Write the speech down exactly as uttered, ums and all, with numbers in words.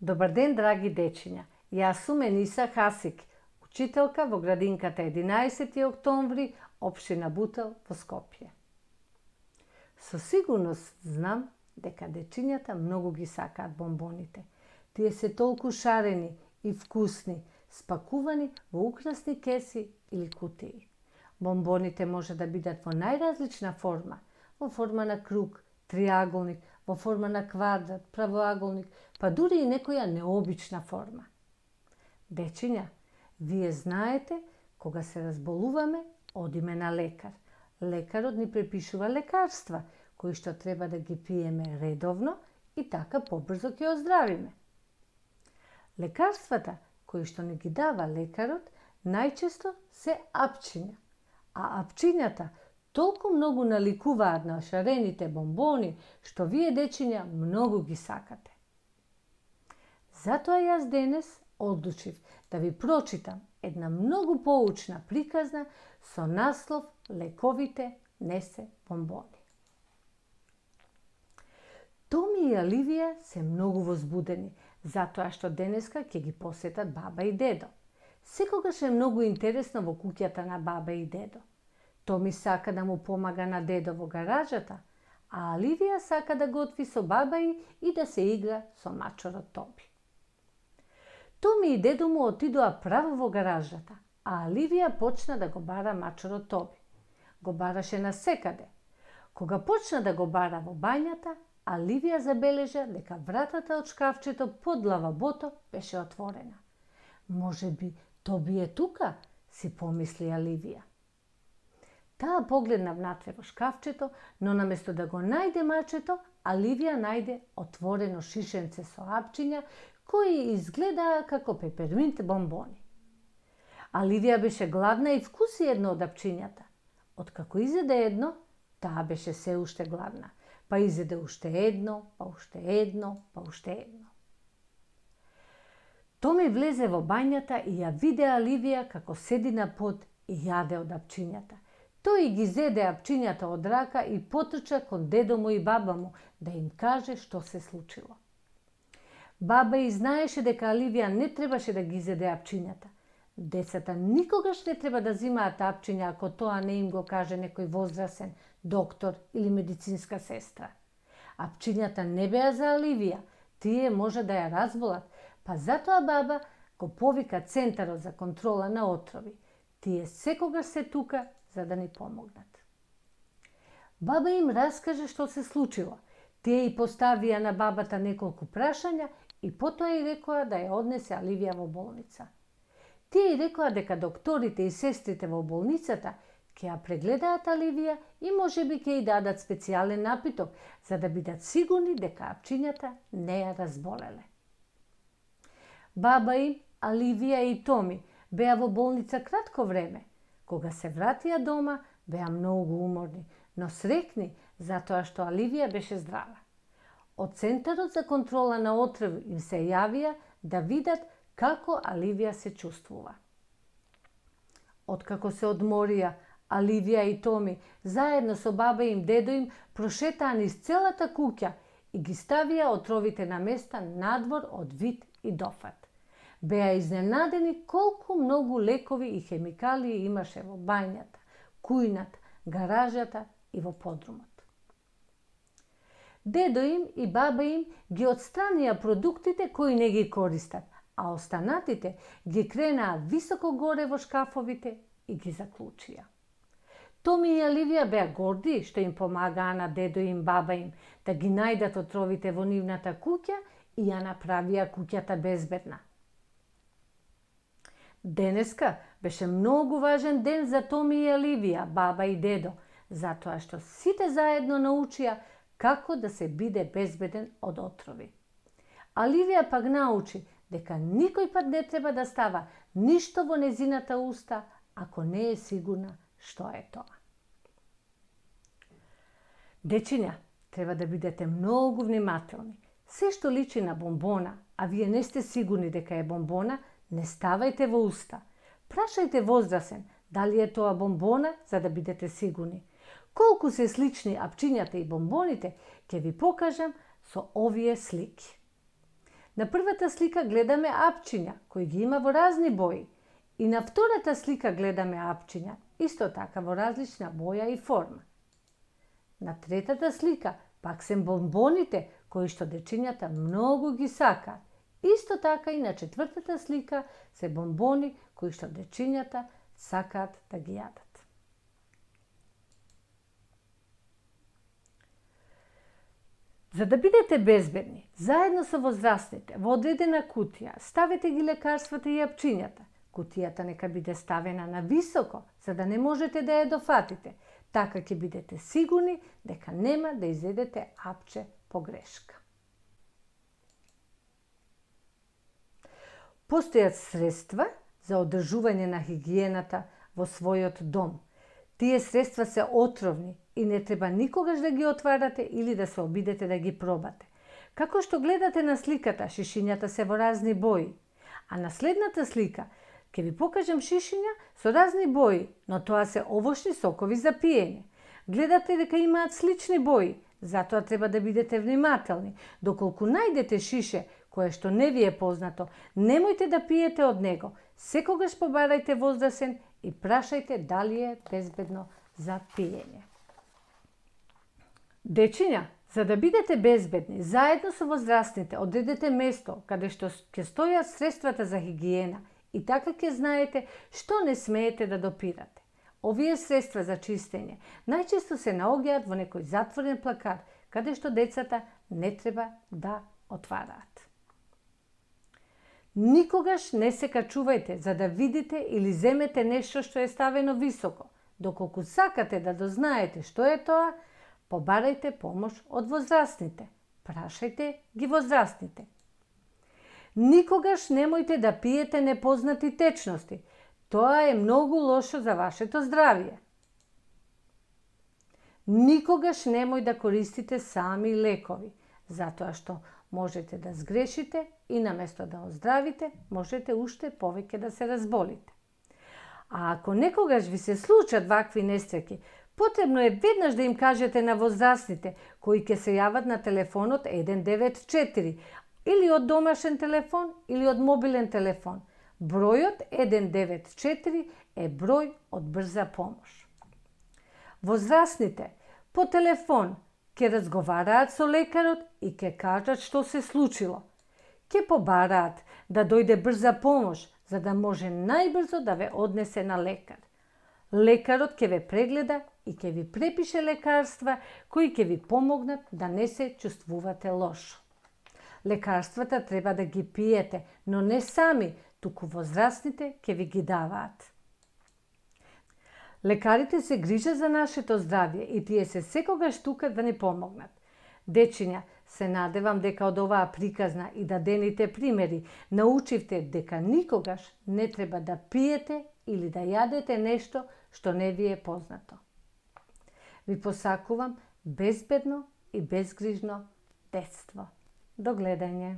Добар ден, драги дечиња. Јас сум Ениса Хасик, учителка во градинката единаесети октомври, општина Бутел во Скопје. Со сигурност знам дека дечињата многу ги сакаат бомбоните. Тие се толку шарени и вкусни, спакувани во украсни кеси или кутии. Бомбоните може да бидат во најразлична форма, во форма на круг, триаголник, во форма на квадрат, правоаголник, па дури и некоја необична форма. Дечиња, вие знаете, кога се разболуваме, одиме на лекар. Лекарот ни препишува лекарства, кои што треба да ги пиеме редовно и така побрзо ќе оздравиме. Лекарствата кои што ни ги дава лекарот најчесто се апчиња, а апчињата толку многу наликуваат на шарените бомбони, што вие, дечиња, многу ги сакате. Затоа јас денес одлучив да ви прочитам една многу поучна приказна со наслов "Лековите не се бомбони". Томи и Аливија се многу возбудени, затоа што денеска ќе ги посетат баба и дедо. Секогаш е многу интересно во куќата на баба и дедо. Томи сака да му помага на дедо во гаражата, а Аливија сака да готви со баба и, и да се игра со мачорот Тоби. Томи и дедо му отидоа право во гаражата, а Аливија почна да го бара мачорот Тоби. Го бараше насекаде. Кога почна да го бара во бањата, Аливија забележа дека вратата од шкафчето под лавабото беше отворена. Може би Тоби е тука, си помисли Аливија. Таа погледна внатре во шкафчето, но наместо да го најде мачето, Аливија најде отворено шишенце со апчиња, кои изгледаа како пеперминт бомбони. Аливија беше гладна и вкуси едно од апчињата. Откако изеде едно, таа беше се уште гладна. Па изеде уште едно, па уште едно, па уште едно. Томи влезе во бањата и ја виде Аливија како седи на под и јаде од апчињата. Тој ги зеде апчињата од рака и потрча кон дедо му и баба му да им каже што се случило. Баба и знаеше дека Аливија не требаше да ги зеде апчињата. Децата никогаш не треба да зимаат апчиња ако тоа не им го каже некој возрасен доктор или медицинска сестра. Апчињата не беа за Аливија, тие може да ја разболат, па затоа баба го повика Центарот за контрола на отрови. Тие секогаш се тука за да ни помогнат. Баба им раскаже што се случило. Тие и поставија на бабата неколку прашања и потоа и рекоа да ја однесе Аливија во болница. Тие и рекоа дека докторите и сестрите во болницата ќе ја прегледаат Аливија и можеби ќе ја дадат специјален напиток, за да бидат сигурни дека апчињата не ја разболеле. Баба им, Аливија и Томи беа во болница кратко време. Кога се вратија дома, беа многу уморни, но срекни затоа што Аливија беше здрава. Од Центарот за контрола на отрови им се јавија да видат како Аливија се чувствува. Откако се одморија, Аливија и Томи заедно со баба им, дедо им прошетаа низ целата куќа и ги ставија отровите на места надвор од вид и дофат. Беа изненадени колку многу лекови и хемикалии имаше во бањата, кујната, гаражата и во подрумот. Дедо им и баба им ги отстранија продуктите кои не ги користат, а останатите ги кренаа високо горе во шкафовите и ги заклучија. Томи и Аливија беа горди што им помагаа на дедо им, баба им да ги најдат отровите во нивната куќа и ја направија куќата безбедна. Денеска беше многу важен ден за Томи и Аливија, баба и дедо, затоа што сите заедно научија како да се биде безбеден од отрови. Аливија пак научи дека никој пат не треба да става ништо во незината уста ако не е сигурна што е тоа. Дечиња, треба да бидете многу внимателни. Се што личи на бомбона, а вие не сте сигурни дека е бомбона, не ставајте во уста. Прашајте возрасен дали е тоа бомбона, за да бидете сигурни. Колку се слични апчињата и бомбоните, ќе ви покажам со овие слики. На првата слика гледаме апчиња, кои ги има во разни бои. И на втората слика гледаме апчиња, исто така во различна боја и форма. На третата слика пак се бонбоните, кои што дечињата многу ги сакаат. Исто така и на четвртата слика се бонбони кои што дечињата сакаат да ги јадат. За да бидете безбедни, заедно со возрастните, во одредена кутија, ставете ги лекарствата и апчињата. Кутијата нека биде ставена на високо, за да не можете да ја дофатите. Така ќе бидете сигурни дека нема да изедете апче по грешка. Постојат средства за одржување на хигиената во својот дом. Тие средства се отровни и не треба никогаш да ги отварате или да се обидете да ги пробате. Како што гледате на сликата, шишињата се во разни бои. А на следната слика ќе ви покажам шишиња со разни бои, но тоа се овошни сокови за пиење. Гледате дека имаат слични бои, затоа треба да бидете внимателни. Доколку најдете шише кое што не ви е познато, немојте да пиете од него. Секогаш побарајте возрасен и прашајте дали е безбедно за пиење. Дечиња, за да бидете безбедни, заедно со возрастните одредете место каде што ќе стојат средствата за хигиена и така ќе знаете што не смеете да допирате. Овие средства за чистење најчесто се наоѓаат во некој затворен плакат, каде што децата не треба да отвараат. Никогаш не се качувајте за да видите или земете нешто што е ставено високо. Доколку сакате да дознаете што е тоа, побарајте помош од возрастните. Прашајте ги возрастните. Никогаш немојте да пиете непознати течности. Тоа е многу лошо за вашето здравје. Никогаш немој да користите сами лекови, затоа што можете да сгрешите и наместо да оздравите, можете уште повеќе да се разболите. А ако некогаш ви се случат вакви несреќи, потребно е веднаш да им кажете на возрастните, кои ќе се јават на телефонот еден девет четири, или од домашен телефон, или од мобилен телефон. Бројот еден девет четири е број од брза помош. Возрастните по телефон ќе разговараат со лекарот и ќе кажат што се случило. Ќе побараат да дојде брза помош, за да може најбрзо да ве однесе на лекар. Лекарот ќе ве прегледа и ќе ви препише лекарства кои ќе ви помогнат да не се чувствувате лошо. Лекарствата треба да ги пиете, но не сами, туку возрастните ќе ви ги даваат. Лекарите се грижат за нашето здравје и тие се секогаш тука да ни помогнат. Дечиња, се надевам дека од оваа приказна и дадените примери научивте дека никогаш не треба да пиете или да јадете нешто што не ви е познато. Ви посакувам безбедно и безгрижно детство. До гледање!